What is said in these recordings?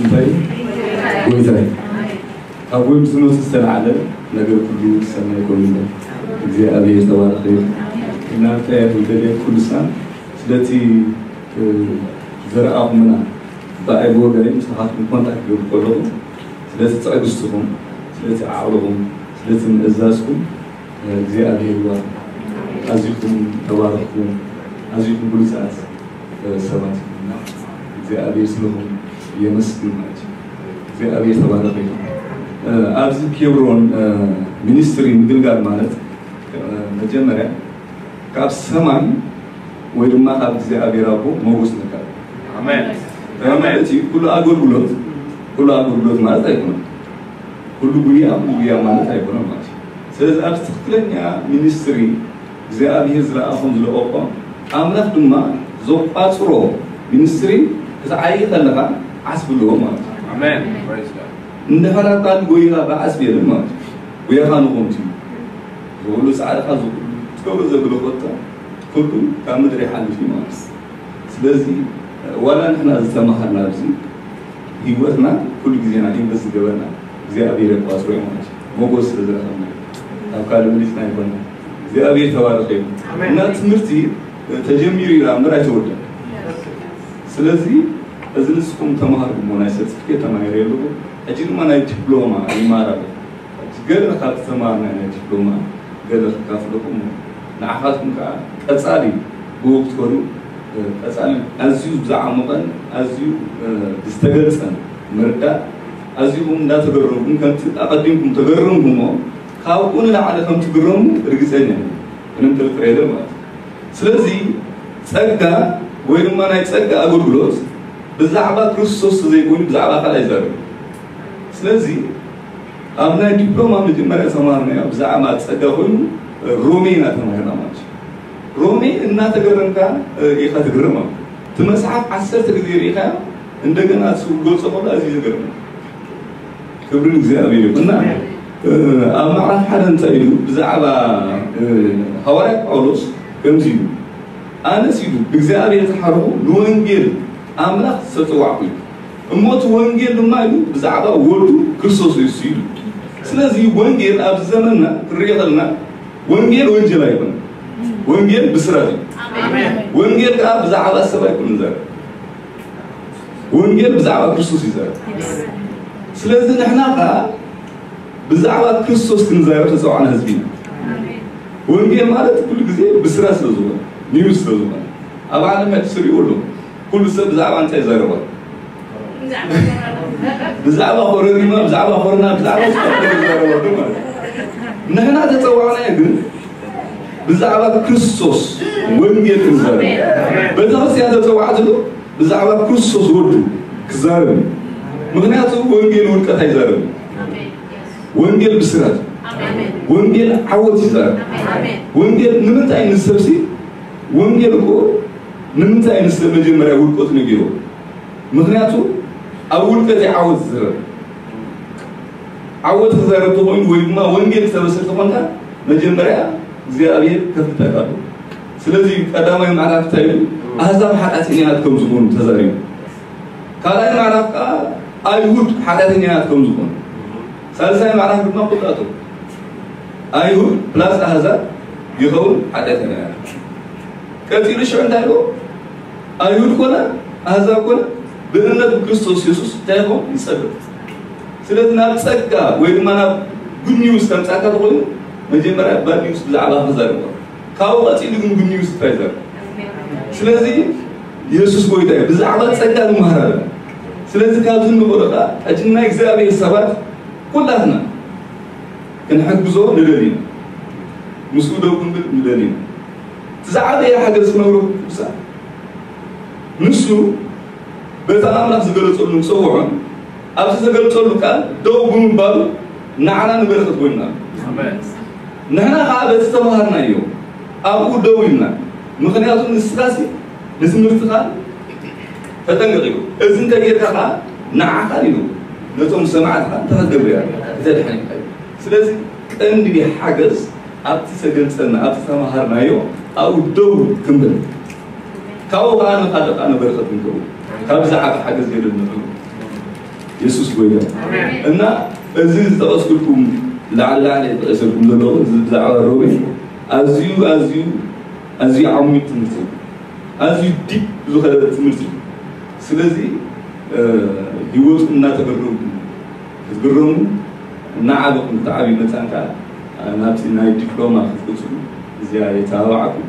እንታይ? ጎይታይ። ካብ ወይ ምስ ዝመፁ ዝተለዓለ ነገር ኩሉ ሰናይ ኮይኑ ኣሎ። እግዚኣብሔር ተባረኸ ይኹን። እናንተ ያህል ደልየት ኩልሳን ስለቲ ዘረኣኹምና ብኣይ ብወገነይ ምሳኻትኩም ኮንታክት ክገብር ከለኹ ስለቲ ትዕግስትኹም፣ ስለቲ ዓቕልኹም፣ ስለቲ ምእዛዝኩም እግዚኣብሔር ይባርኩም። ኣዚኹም ተባረኽኩም። ኣዚኹም ብሉጻት ሰባት ኢኹም። እግዚኣብሔር ስለኹም የመስግን ማለት እዩ። እግዚኣብሔር ተባረኽ ይኹን። ኣብዚ ኬብሮን ሚኒስትሪ ምግልጋል ማለት መጀመርያ ካብ ሰማይ ወይ ድማ ካብ እግዚኣብሔር ኣቦ ሞጎስ ንረክብ። ኣሜን። ማለት እዩ ኩሉ ኣገልግሎት፣ ኩሉ ኣገልግሎት ማለት ኣይኮነን። ኩሉ ጉያ፣ ኩሉ ጉያ ማለት ኣይኮነን ማለት እዩ። ስለዚ ኣብ ትኽክለኛ ሚኒስትሪ እግዚኣብሔር ዝለኣኾም ዝለቀቆ ኣምላኽ ድማ ዘቋፅሮ ሚኒስትሪ ክትዓይ ከለኻ ዓስቢ ኣለዎ ማለት እዩ። ኣሜን። Praise God። እንድሕር ኣብ ካልእ ጎይኻ ብዓስቢ የለን ማለት እዩ። ጉያኻ ንኾምቲ ዝብሉ ጻዕርኻ ዝብሉ ትገብሮ ዘግሎ ኮታ ኩሉ ካብ ምድሪ ይሓልፍ እዩ ማለት እዩ። ስለዚ ዋላ ንሕና ዝተማሃርና ኣብዚ ህይወትና ኩሉ ግዜና ኢንቨስት ዝገበርና እግዚኣብሔር የቋጽሮ እዩ ማለት እዩ። ሞጎስ ስለ ዝረኸብና እዩ። ካብ ካልእ መሊስና ኣይኮነ። እግዚኣብሔር ተባረኸ እዩ። ኣሜን። እና ትምህርቲ ተጀሚሩ እዩ እምበር ኣይተወደን። ስለዚ እዚ ንስኹም ተማሃርኩሞ ናይ ሰርቲፊኬት ተማሂረ ኣለኹ። ሕጂ ድማ ናይ ዲፕሎማ ይማር ኣለኹ። ገለ ካብ ዝተማሃርና ናይ ዲፕሎማ ገለ ክካፍለኩም ንዓኻትኩም ከዓ ቀጻሊ ብኡ ክትከዱ ቀጻሊ ኣዝዩ ብዝዓሞቐን ኣዝዩ ዝተገልጸን ምርዳእ ኣዚኹም እንዳተገረምኩም ከምቲ ኣቐዲምኩም ተገረምኩሞ ካብኡ ንላዕሊ ከም ትግረሙ ርግጸኛ ምንም ጥርጥር የለን ማለት እዩ። ስለዚ ጸጋ ወይ ድማ ናይ ጸጋ ኣገልግሎት ብዛዕባ ክርስቶስ ዘይኮይኑ ብዛዕባ ካልእ ኣይዛረብ። ስለዚ ኣብ ናይ ዲፕሎማ መጀመርያ ዝተማሃርናዮ ብዛዕባ ጸጋ ኮይኑ ሮሜ ኢና ተማሂርና ማለት እዩ። ሮሜ እናተገረምካ ኢኻ ትግረም ማለት እዩ። እቲ መጽሓፍ ዓሰርተ ግዜ ርኢኻዮ እንደገና እሱ ክገልጾ ከሎ ኣዝዩ ዝገርም። ክብሪ ንእግዚኣብሔር ይኹን። እና ኣብ ምዕራፍ ሓደ እንታይ ኢሉ ብዛዕባ ሃዋርያ ጳውሎስ ከምዚ ኢሉ ኣነስ ኢሉ ብእግዚኣብሔር ዝሓረኹ ንወንጌል ኣምላኽ ዝተጸዋዕኩ እዩ። እሞ እቲ ወንጌል ድማ ኢሉ ብዛዕባ ወዱ ክርስቶስ ኢየሱስ ኢሉ። ስለዚ ወንጌል ኣብዚ ዘመንና ክንሪኦ ከለና ወንጌል ወንጀል ኣይኮነን። ወንጌል ብስራት እዩ። ወንጌል ከዓ ብዛዕባ ሰብ ኣይኮነን ዘረብ። ወንጌል ብዛዕባ ክርስቶስ ይዛረብ። ስለዚ ንሕና ከዓ ብዛዕባ ክርስቶስ ክንዛረብ ተፀዋዕና ህዝቢ ኢና። ወንጌል ማለት ኩሉ ግዜ ብስራት ስለ ዝኾነ ኒውስ ስለ ዝኾነ ኣብ ዓለም ሕጂ ስሪኡ ኣሎ። ኩሉ ሰብ ብዛዕባ እንታይ ይዛረባ? ብዛዕባ ኮረሪማ፣ ብዛዕባ ኮርና፣ ብዛዕባ ስፖርት ይዛረባ ኣሎ ማለት እዩ። ንሕና ተፀዋዕናዮ ግን ብዛዕባ ክርስቶስ ወንጌል ክንዛረብ ቤተክርስትያን ተፀዋዕትሉ ብዛዕባ ክርስቶስ ወዱ ክዛረብ እዩ። ምክንያቱ ወንጌል ውድቀት ኣይዛረብን። ወንጌል ብስራት፣ ወንጌል ዓወት ይዛረብ። ወንጌል ንምንታይ ንሰብሲ ወንጌል እኮ ንምንታይ ንስለ መጀመርያ ውድቀቱ ነጊርዎ? ምክንያቱ ኣብ ውድቀት እዩ ዓወት ዝዝረብ። ዓወት ክዛረብ ተኮይኑ ወይ ድማ ወንጌል ክተበስር ተኮንካ መጀመርያ እግዚኣብሔር ከፍልጠካ ኣሎ። ስለዚ ቀዳማይ ምዕራፍ እንታይ ይብል? ኣህዛብ ሓጢኣተኛታት ከም ዝኾኑ ተዛሪቡ። ካልኣይ ምዕራፍ ከዓ ኣይሁድ ሓጢኣተኛታት ከም ዝኾኑ፣ ሳልሳይ ምዕራፍ ድማ ኩላቶም ኣይሁድ ፕላስ ኣህዛብ ይኸውን ሓጢኣተኛታት። ቀፂሉ ሽዑ እንታይ ኢሉ? ኣይሁድ ኮነ ኣህዛብ ኮነ ብእምነት ብክርስቶስ የሱስ እንታይ ይኸውን? ይፀድቕ። ስለዚ ናብ ፀጋ ወይ ድማ ናብ ጉድ ኒውስ ከምፃካ ተኮይኑ መጀመርያ ባድ ኒውስ ብዛዕባ ክዛረብ ካብኡ ቀፂሉ ግን ጉድ ኒውስ ጥራይ ዘር ስለዚ የሱስ ጎይታ እዩ። ብዛዕባ ፀጋ ንመሃር ኣለና። ስለዚ ካብዚ ንኽእሎ ከዓ ሕጂ ናይ እግዚኣብሔር ሰባት ኩላትና ክንሕግዞ ንደሊ ኢና። ምስኡ ደው ክንብል ንደሊ ኢና። እቲ ዝዓበየ ሓገዝ ክነብሮ ቅዱሳን ንሱ በቲ ኣምላኽ ዝገለጸሉ ንጸውዖን ኣብዚ ዝተገልጸሉ ቃል ደው ብምባሉ ንዓና ንበረኸት ኮይንና ኣሎ። ኣሜን። ንሕና ከዓ በቲ ተምሃርናዮ ኣብኡ ደው ኢልና፣ ምኽንያቱ ንስኻሲ ንትምህርትኻ ተጠንቀቕ ኢሉ፣ እዚ እንተጌርካ ከዓ ንዓኻን ኢሉ ነቶም ሰማዕትኻ እንታይ ክትገብር እያ? ክተድሕን ኢኻ ኢሉ። ስለዚ ቀንዲ ሓገዝ ኣብቲ ዝተገልጸልና ኣብቲ ተምሃርናዮ ኣብኡ ደው ክንብል ካብኡ ከዓ ንኻልእ ከዓ ንበረኸት ንገብሩ ካብ ዝዓቢ ሓገዝ የለን ንብሉ። የሱስ ጎይታ እና እዚ ዝጠቐስኩልኩም ላዕሊ ላዕሊ የጠቐሰልኩም ዘለኹ እዚ ብዛዕባ ሮሜ ኣዝዩ ኣዝዩ ኣዝዩ ዓሚቕ ትምህርቲ እዩ። ኣዝዩ ዲፕ ዝኸደ ትምህርቲ እዩ። ስለዚ ህይወቱ እናተገረምኩም ክትግረሙ እናዓበኹም ክትዓብዩ መፃን ከዓ ናብቲ ናይ ዲፕሎማ ክትቅፅሉ እዚኣ የተባባዓኩም።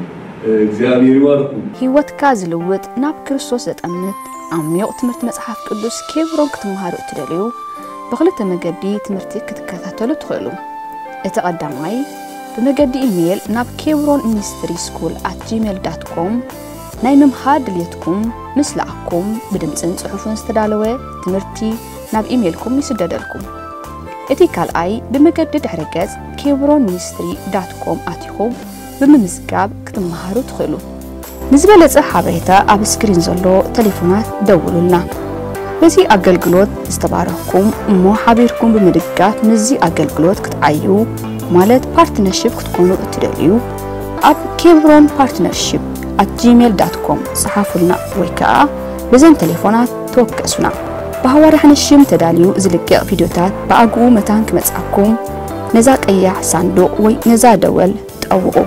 እግዚኣብሔር ይባርኩም። ህይወትካ ዝልውጥ ናብ ክርስቶስ ዘጠምት ዓሚቕ ትምህርቲ መጽሓፍ ቅዱስ ኬብሮን ክትምሃሩ እትደልዩ ብኽልተ መገዲ ትምህርቲ ክትከታተሉ ትኽእሉ። እቲ ቀዳማይ ብመገዲ ኢሜይል ናብ ኬብሮን ሚኒስትሪ ስኩል ኣት ጂሜል ዳት ኮም ናይ ምምሃር ድልየትኩም ምስ ለኣኩም ብድምፅን ጽሑፍን ዝተዳለወ ትምህርቲ ናብ ኢሜይልኩም ይስደደልኩም። እቲ ካልኣይ ብመገዲ ድሕረ ገጽ ኬብሮን ሚኒስትሪ ዳት ኮም ኣቲኹም ብምምዝጋብ ክትመሃሩ ትኽእሉ። ንዝበለጸ ሓበሬታ ኣብ ስክሪን ዘሎ ተሌፎናት ደውሉልና። በዚ ኣገልግሎት ዝተባረኽኩም እሞ ሓቢርኩም ብምድጋፍ ምስዚ ኣገልግሎት ክትዓዩ ማለት ፓርትነርሽፕ ክትኮኑ እትደልዩ ኣብ ኬብሮን ፓርትነርሽፕ ኣት ጂሜል ዳት ኮም ጸሓፉልና ወይ ከኣ በዘን ተሌፎናት ተወከሱና። ብሃዋርያ ሓንሽም ተዳልዩ ዝልቀቕ ቪድዮታት ብኣግኡ መታን ክመጽኣኩም ነዛ ቀያሕ ሳንዱቕ ወይ ነዛ ደወል ጠውቑ።